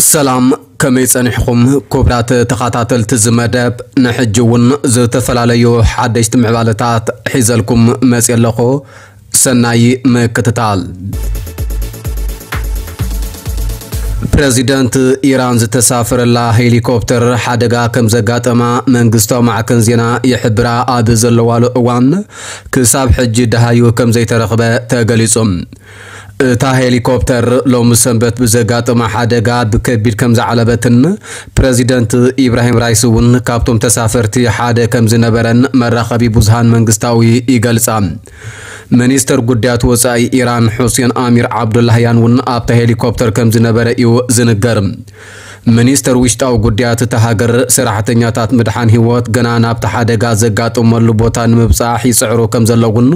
ሰላም፣ ከመይ ጸኒሕኹም ክቡራት ተኸታተልቲ እዚ መደብ? ንሕጂ እውን ዝተፈላለዩ ሓደሽቲ ምዕባለታት ሒዘልኩም መጽየ ኣለኹ። ሰናይ ምክትታል። ፕረዚደንት ኢራን ዝተሳፈረላ ሄሊኮፕተር ሓደጋ ከም ዘጋጠማ መንግስታዊ ማዕከን ዜና ይሕብራ ኣብ ዘለዋሉ እዋን፣ ክሳብ ሕጂ ደሃዩ ከም ዘይተረኽበ ተገሊጹ። እታ ሄሊኮፕተር ሎሚ ሰንበት ብዘጋጠማ ሓደጋ ብከቢድ ከም ዝዓለበትን ፕረዚደንት ኢብራሂም ራይሲ እውን ካብቶም ተሳፈርቲ ሓደ ከም ዝነበረን መራኸቢ ብዙሃን መንግስታዊ ይገልጻ። ሚኒስተር ጉዳያት ወጻኢ ኢራን ሑሴን ኣሚር ዓብዱላህያን እውን ኣብታ ሄሊኮፕተር ከም ዝነበረ እዩ ዝንገር። ሚኒስተር ውሽጣዊ ጉዳያት እታ ሃገር፣ ሰራሕተኛታት ምድሓን ህይወት ገና ናብቲ ሓደጋ ዘጋጠመሉ ቦታ ንምብጻሕ ይጽዕሩ ከም ዘለውን፣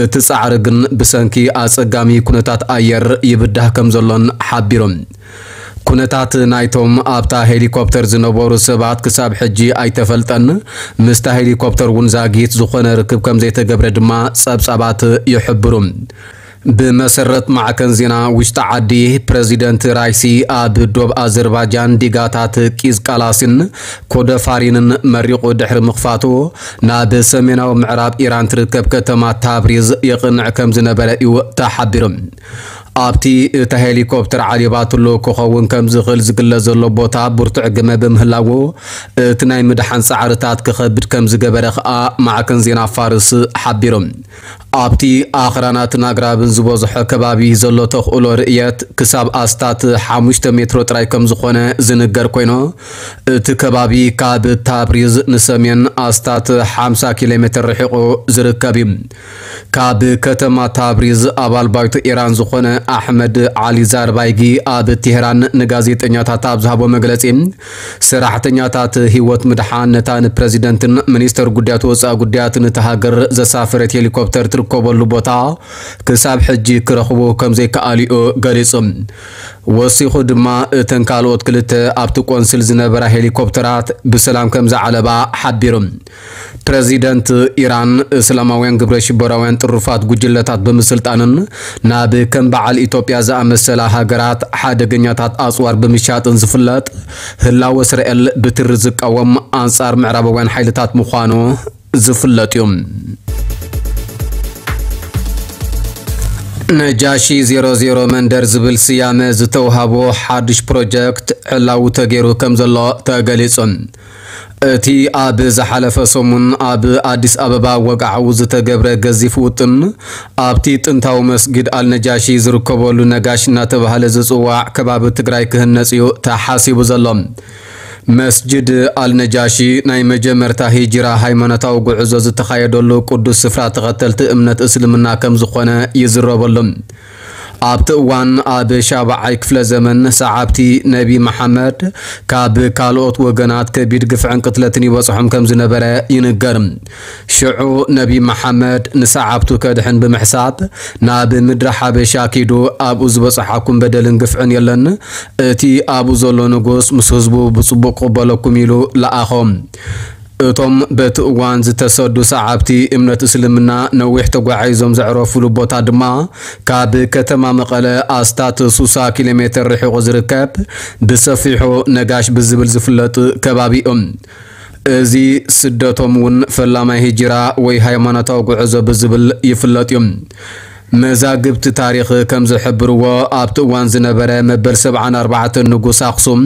እቲ ጻዕሪ ግን ብሰንኪ ኣጸጋሚ ኩነታት ኣየር ይብዳህ ከም ዘሎን ሓቢሮም። ኩነታት ናይቶም ኣብታ ሄሊኮፕተር ዝነበሩ ሰባት ክሳብ ሕጂ ኣይተፈልጠን። ምስታ ሄሊኮፕተር እውን ዛጊት ዝኾነ ርክብ ከም ዘይተገብረ ድማ ጸብጻባት ይሕብሩ። ብመሰረት ማዕከን ዜና ውሽጢ ዓዲ፣ ፕረዚደንት ራይሲ ኣብ ዶብ ኣዘርባጃን ዲጋታት ቂዝቃላሲን ኮደፋሪንን መሪቑ ድሕሪ ምኽፋቱ፣ ናብ ሰሜናዊ ምዕራብ ኢራን ትርከብ ከተማ ታብሪዝ የቕንዕ ከም ዝነበረ እዩ ተሓቢሩ። ኣብቲ እታ ሄሊኮፕተር ዓሊባትሉ ክኸውን ከም ዝኽእል ዝግለጽ ዘሎ ቦታ ብርቱዕ ግመ ብምህላዉ፣ እቲ ናይ ምድሓን ጻዕርታት ክኸብድ ከም ዝገበረ ከኣ ማዕከን ዜና ፋርስ ሓቢሩ። ኣብቲ ኣኽራናትን ኣግራብን ዝበዝሖ ከባቢ ዘሎ ተኽእሎ ርእየት ክሳብ ኣስታት ሓሙሽተ ሜትሮ ጥራይ ከም ዝኾነ ዝንገር ኮይኑ፣ እቲ ከባቢ ካብ ታብሪዝ ንሰሜን ኣስታት ሓምሳ ኪሎ ሜትር ርሒቑ ዝርከብ እዩ። ካብ ከተማ ታብሪዝ ኣባል ባይቶ ኢራን ዝኾነ ኣሕመድ ዓሊ ዛርባይጊ ኣብ ቴህራን ንጋዜጠኛታት ኣብ ዝሃቦ መግለጺ፣ ሰራሕተኛታት ህይወት ምድሓን ነታ ንፕረዚደንትን ሚኒስተር ጉዳያት ወጻኢ ጉዳያትን እታ ሃገር ዘሳፈረት ሄሊኮፕተር ትርከበሉ ቦታ ክሳብ ሕጂ ክረኽቡ ከም ዘይከኣሉ'ዩ ገሊጹ። ወሲኹ ድማ እተን ካልኦት ክልተ ኣብቲ ቆንስል ዝነበራ ሄሊኮፕተራት ብሰላም ከም ዝዓለባ ሓቢሩ። ፕረዚደንት ኢራን፣ እስላማውያን ግብረ ሽበራውያን ጥሩፋት ጉጅለታት ብምስልጣንን ናብ ከም በዓል ኢትዮጵያ ዝኣመሰላ ሃገራት ሓደገኛታት ኣጽዋር ብምሻጥን ዝፍለጥ ህላወ እስራኤል ብትሪ ዝቃወም ኣንጻር ምዕራባውያን ሓይልታት ምዃኑ ዝፍለጥ እዩ። ነጃሺ ዜሮ ዜሮ መንደር ዝብል ስያመ ዝተውሃቦ ሓድሽ ፕሮጀክት ዕላዊ ተገይሩ ከም ዘሎ ተገሊጹ። እቲ ኣብ ዝሓለፈ ሰሙን ኣብ ኣዲስ ኣበባ ወግዓዊ ዝተገብረ ገዚፍ ውጥን፣ ኣብቲ ጥንታዊ መስጊድ ኣልነጃሺ ዝርከበሉ ነጋሽ እናተባህለ ዝጽዋዕ ከባቢ ትግራይ ክህነጽ እዩ ተሓሲቡ ዘሎ። መስጅድ ኣልነጃሺ ናይ መጀመርታ ሂጅራ ሃይማኖታዊ ጉዕዞ ዝተኻየደሉ ቅዱስ ስፍራ ተኸተልቲ እምነት እስልምና ከም ዝኾነ ይዝረበሉ። ኣብቲ እዋን ኣብ ሻብዓይ ክፍለ ዘመን ሰዓብቲ ነቢ መሓመድ ካብ ካልኦት ወገናት ከቢድ ግፍዕን ቅትለትን ይበጽሖም ከም ዝነበረ ይንገር። ሽዑ ነቢ መሓመድ ንሰዓብቱ ከድሕን ብምሕሳብ ናብ ምድሪ ሓበሻ ኪዱ ኣብኡ ዝበጽሓኩም በደልን ግፍዕን የለን፣ እቲ ኣብኡ ዘሎ ንጉስ ምስ ህዝቡ ብጽቡቕ ክቕበለኩም ኢሉ ለኣኾም። እቶም በቲ እዋን ዝተሰዱ ሰዓብቲ እምነት እስልምና ነዊሕ ተጓዒዞም ዘዕረፉሉ ቦታ ድማ ካብ ከተማ መቐለ ኣስታት ሱሳ ኪሎ ሜትር ርሒቑ ዝርከብ ብሰፊሑ ነጋሽ ብዝብል ዝፍለጥ ከባቢ እዩ። እዚ ስደቶም እውን ፈላማይ ሂጅራ ወይ ሃይማኖታዊ ጉዕዞ ብዝብል ይፍለጥ እዩ። መዛግብቲ ታሪኽ ከም ዝሕብርዎ፣ ኣብቲ እዋን ዝነበረ መበል ሰብዓን ኣርባዕተን ንጉስ ኣኽሱም፣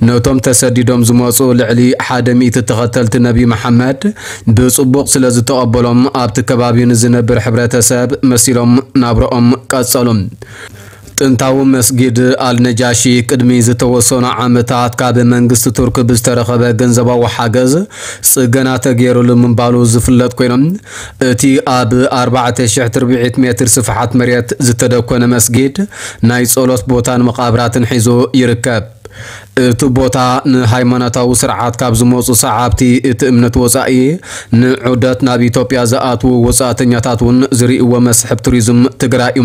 ነቶም ተሰዲዶም ዝመጹ ልዕሊ ሓደ ሚእቲ ተኸተልቲ ነቢ መሓመድ ብጽቡቕ ስለ ዝተቐበሎም፣ ኣብቲ ከባቢ ንዝነብር ሕብረተሰብ መሲሎም ናብርኦም ቀጸሉ። ጥንታዊ መስጊድ ኣልነጃሺ ቅድሚ ዝተወሰኑ ዓመታት ካብ መንግስቲ ቱርክ ብዝተረኸበ ገንዘባዊ ሓገዝ ጽገና ተገይሩሉ ምንባሉ ዝፍለጥ ኮይኖም፣ እቲ ኣብ ኣርባዕተ ሽሕ ትርብዒት ሜትር ስፍሓት መሬት ዝተደኮነ መስጊድ ናይ ጸሎት ቦታን መቓብራትን ሒዙ ይርከብ። እቲ ቦታ ንሃይማኖታዊ ስርዓት ካብ ዝመጹ ሰዓብቲ እቲ እምነት ወጻኢ፣ ንዑደት ናብ ኢትዮጵያ ዝኣትዉ ወጻእተኛታት እውን ዝርእይዎ መስሕብ ቱሪዝም ትግራይ እዩ።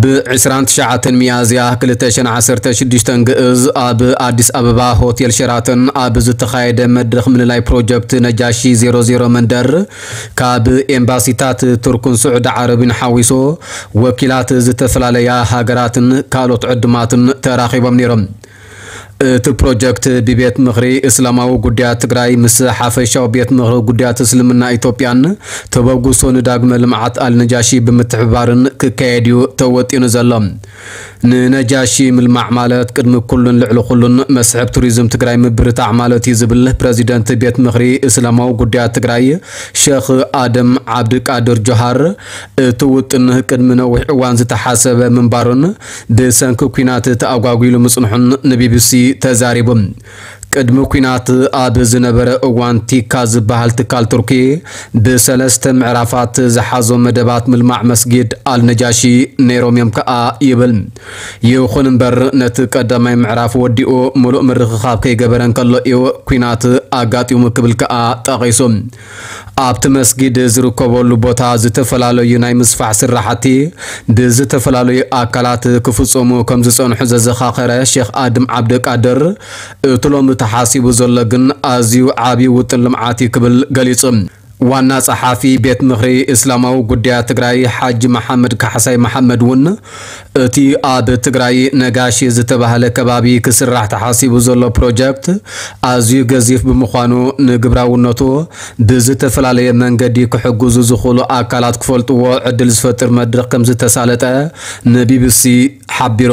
ብ ዕስራን ትሽዓተን ሚያዝያ ክልተ ሽሕን ዓሰርተ ሽዱሽተን ግእዝ ኣብ ኣዲስ ኣበባ ሆቴል ሸራተን ኣብ ዝተኻየደ መድረኽ ምልላይ ፕሮጀክት ነጃሺ ዜሮ ዜሮ መንደር፣ ካብ ኤምባሲታት ቱርክን ስዑዲ ዓረብን ሓዊሱ፣ ወኪላት ዝተፈላለያ ሃገራትን ካልኦት ዕድማትን ተራኺቦም ነይሮም። እቲ ፕሮጀክት ብቤት ምኽሪ እስላማዊ ጉዳያት ትግራይ ምስ ሓፈሻዊ ቤት ምኽሪ ጉዳያት እስልምና ኢትዮጵያን ተበግሶ ንዳግመ ልምዓት ኣልነጃሺ ብምትሕብባርን ክካየድ እዩ ተወጢኑ ዘሎ። ንነጃሺ ምልማዕ ማለት ቅድሚ ኩሉን ልዕሊ ኩሉን መስሕብ ቱሪዝም ትግራይ ምብርታዕ ማለት እዩ ዝብል ፕረዚደንት ቤት ምኽሪ እስላማዊ ጉዳያት ትግራይ ሸኽ ኣደም ዓብድቃድር ጆሃር፣ እቲ ውጥን ቅድሚ ነዊሕ እዋን ዝተሓሰበ ምንባሩን ብሰንኪ ኲናት ተኣጓጒሉ ምጽንሑን ንቢቢሲ ተዛሪቡ። ቅድሚ ኲናት ኣብ ዝነበረ እዋን ቲካ ዝበሃል ትካል ቱርኪ ብሰለስተ ምዕራፋት ዝሓዞ መደባት ምልማዕ መስጊድ ኣልነጃሺ ነይሮም እዮም ከኣ ይብል። ይኹን እምበር ነቲ ቀዳማይ ምዕራፍ ወዲኡ ምሉእ ምርኽኻብ ከይገበረ እንከሎ እዩ ኲናት ኣጋጢሙ ክብል ከኣ ጠቒሱ። ኣብቲ መስጊድ ዝርከበሉ ቦታ ዝተፈላለዩ ናይ ምስፋሕ ስራሕቲ ብዝተፈላለዩ ኣካላት ክፍጸሙ ከም ዝጸንሑ ዘዘኻኸረ ሼኽ ኣድም ዓብደቃድር፣ እቲ ሎሚ ተሓሲቡ ዘሎ ግን ኣዝዩ ዓብዪ ውጥን ልምዓት እዩ ክብል ገሊጹ። ዋና ጸሓፊ ቤት ምኽሪ እስላማዊ ጉዳያት ትግራይ ሓጂ መሓመድ ካሕሳይ መሓመድ እውን እቲ ኣብ ትግራይ ነጋሺ ዝተባህለ ከባቢ ክስራሕ ተሓሲቡ ዘሎ ፕሮጀክት ኣዝዩ ገዚፍ ብምዃኑ ንግብራውነቱ ብዝተፈላለየ መንገዲ ክሕግዙ ዝኽእሉ ኣካላት ክፈልጥዎ ዕድል ዝፈጥር መድረኽ ከም ዝተሳለጠ ንቢቢሲ ሓቢሩ።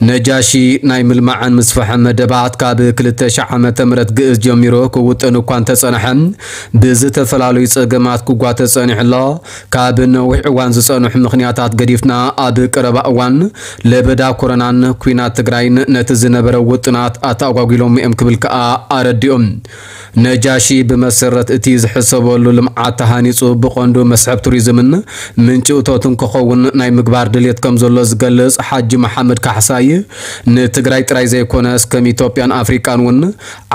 ነጃሺ ናይ ምልማዕን ምስፍሕን መደባት ካብ ክልተ ሺሕ ዓመተ ምህረት ግእዝ ጀሚሩ ክውጥን እኳ እንተጸንሐ፣ ብዝተፈላለዩ ጸገማት ክጓተ ጸኒሑ ኣሎ። ካብ ነዊሕ እዋን ዝጸንሑ ምኽንያታት ገዲፍና፣ ኣብ ቀረባ እዋን ለበዳ ኮሮናን ኲናት ትግራይን ነቲ ዝነበረ ውጥናት ኣተኣጓጒሎም እዮም ክብል ከኣ ኣረዲኡ። ነጃሺ ብመሰረት እቲ ዝሕሰበሉ ልምዓት ተሃኒጹ ብቐንዱ መስሕብ ቱሪዝምን ምንጪ እቶትን ክኸውን ናይ ምግባር ድሌት ከም ዘሎ ዝገልጽ ሓጂ መሓመድ ካሕሳይ፣ ንትግራይ ጥራይ ዘይኮነስ ከም ኢትዮጵያን ኣፍሪቃን እውን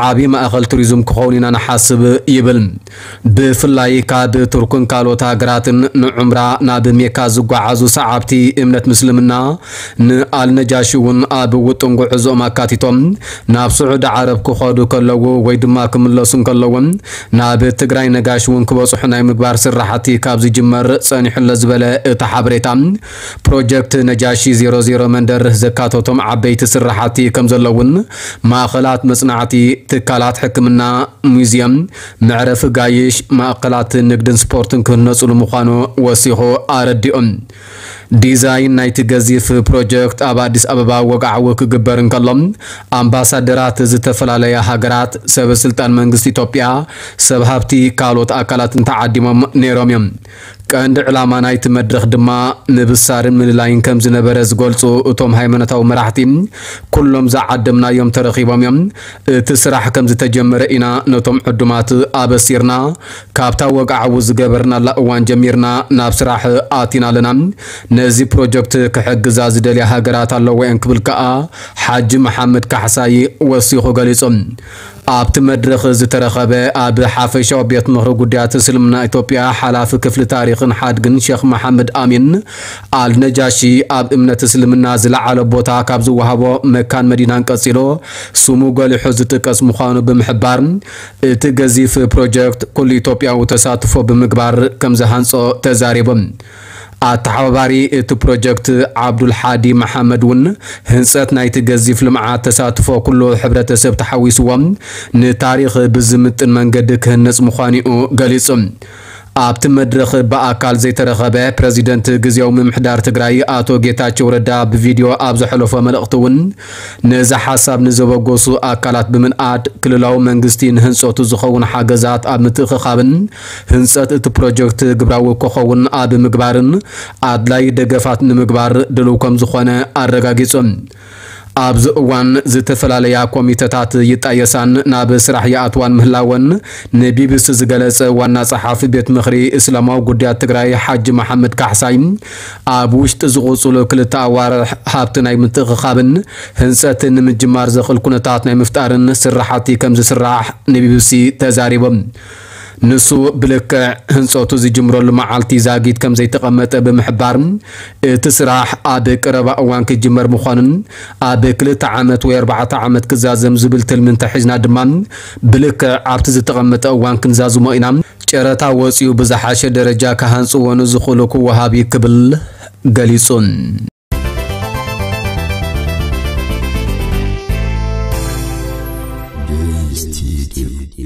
ዓቢ ማእኸል ቱሪዝም ክኸውን ኢና ንሓስብ ይብል። ብፍላይ ካብ ቱርክን ካልኦት ሃገራትን ንዑምራ ናብ ሜካ ዝጓዓዙ ሰዓብቲ እምነት ምስልምና ንኣልነጃሺ እውን ኣብ ውጥን ጉዕዞኦም ኣካቲቶም ናብ ስዑዲ ዓረብ ክኸዱ ከለዉ ወይ ድማ ክምለሱ እንከለዎም ናብ ትግራይ ነጋሽ እውን ክበፅሑ ናይ ምግባር ስራሕቲ ካብ ዝጅመር ፀኒሑ ኣሎ ዝበለ እቲ ሓበሬታ፣ ፕሮጀክት ነጃሺ ዜሮ ዜሮ መንደር ዘካተቶም ዓበይቲ ስራሕቲ ከም ዘለውን ማእኸላት መፅናዕቲ፣ ትካላት ሕክምና፣ ሙዚየም፣ መዕረፊ ጋይሽ፣ ማእኸላት ንግድን ስፖርትን ክህነፁሉ ምዃኑ ወሲኹ ኣረዲኦም። ዲዛይን ናይቲ ገዚፍ ፕሮጀክት ኣብ ኣዲስ ኣበባ ወግዓዊ ክግበር እንከሎ፣ ኣምባሳደራት ዝተፈላለያ ሃገራት፣ ሰበ ስልጣን መንግስቲ ኢትዮጵያ፣ ሰብ ሃብቲ ካልኦት ኣካላትን ተዓዲሞም ነይሮም እዮም። ቀንዲ ዕላማ ናይቲ መድረኽ ድማ ምብሳርን ምልላይን ከም ዝነበረ ዝገልጹ እቶም ሃይማኖታዊ መራሕቲ፣ ኩሎም ዝዓደምናዮም ተረኺቦም እዮም። እቲ ስራሕ ከም ዝተጀመረ ኢና ነቶም ዕዱማት ኣበሲርና። ካብታ ወግዓዊ ዝገበርናላ እዋን ጀሚርና ናብ ስራሕ ኣቲና ኣለና። ነዚ ፕሮጀክት ክሕግዛ ዝደልያ ሃገራት ኣለዎ እየን ክብል ከኣ ሓጂ መሓመድ ካሕሳይ ወሲኹ ገሊጹ። ኣብቲ መድረኽ ዝተረኸበ ኣብ ሓፈሻዊ ቤት ምኽሪ ጉዳያት እስልምና ኢትዮጵያ ሓላፊ ክፍሊ ታሪኽን ሓድግን ሼኽ መሓመድ ኣሚን ኣልነጃሺ፣ ኣብ እምነት እስልምና ዝለዓለ ቦታ ካብ ዝወሃቦ መካን መዲናን ቀጺሉ ስሙ ጎሊሑ ዝጥቀስ ምዃኑ ብምሕባር፣ እቲ ገዚፍ ፕሮጀክት ኩሉ ኢትዮጵያዊ ተሳትፎ ብምግባር ከም ዝሃንጾ ተዛሪቡ። ኣተሓባባሪ እቲ ፕሮጀክት ዓብዱል ሓዲ መሓመድ እውን ህንፀት ናይቲ ገዚፍ ልምዓት ተሳትፎ ኩሉ ሕብረተሰብ ተሓዊስዎ ንታሪኽ ብዝምጥን መንገዲ ክህነፅ ምዃኑ'ዩ ገሊጹ። ኣብቲ መድረኽ ብኣካል ዘይተረኸበ ፕረዚደንት ግዝያዊ ምምሕዳር ትግራይ ኣቶ ጌታቸው ረዳ ብቪድዮ ኣብ ዘሕለፎ መልእኽቲ እውን ነዚ ሓሳብ ንዘበገሱ ኣካላት ብምንኣድ ክልላዊ መንግስቲ ንህንፀቱ ዝኸውን ሓገዛት ኣብ ምትእኽኻብን ህንፀት እቲ ፕሮጀክት ግብራዊ ክኸውን ኣብ ምግባርን ኣድላይ ደገፋት ንምግባር ድልው ከም ዝኾነ ኣረጋጊጹ። ኣብዚ እዋን ዝተፈላለያ ኮሚተታት ይጣየሳን ናብ ስራሕ ይኣትዋን ምህላወን ንቢቢሲ ዝገለጸ ዋና ጸሓፊ ቤት ምኽሪ እስላማዊ ጉዳያት ትግራይ ሓጂ መሓመድ ካሕሳይ፣ ኣብ ውሽጢ ዝቕጽሉ ክልተ ኣዋርሕ ሃብቲ ናይ ምትእኽኻብን ህንጸትን ንምጅማር ዘኽእል ኩነታት ናይ ምፍጣርን ስራሕቲ ከም ዝስራሕ ንቢቢሲ ተዛሪቦም። ንሱ ብልክዕ ህንጸቱ ዝጅምረሉ መዓልቲ ዛጊት ከም ዘይተቐመጠ ብምሕባር፣ እቲ ስራሕ ኣብ ቀረባ እዋን ክጅመር ምዃኑን ኣብ ክልተ ዓመት ወይ ኣርባዕተ ዓመት ክዛዘም ዝብል ትልሚ እንተሒዝና ድማ ብልክዕ ኣብቲ ዝተቐመጠ እዋን ክንዛዝሞ ኢና። ጨረታ ወጺኡ ብዝሓሸ ደረጃ ክሃንጽዎ ንዝኽእሉ ክወሃብ እዩ ክብል ገሊጹ። እዩ።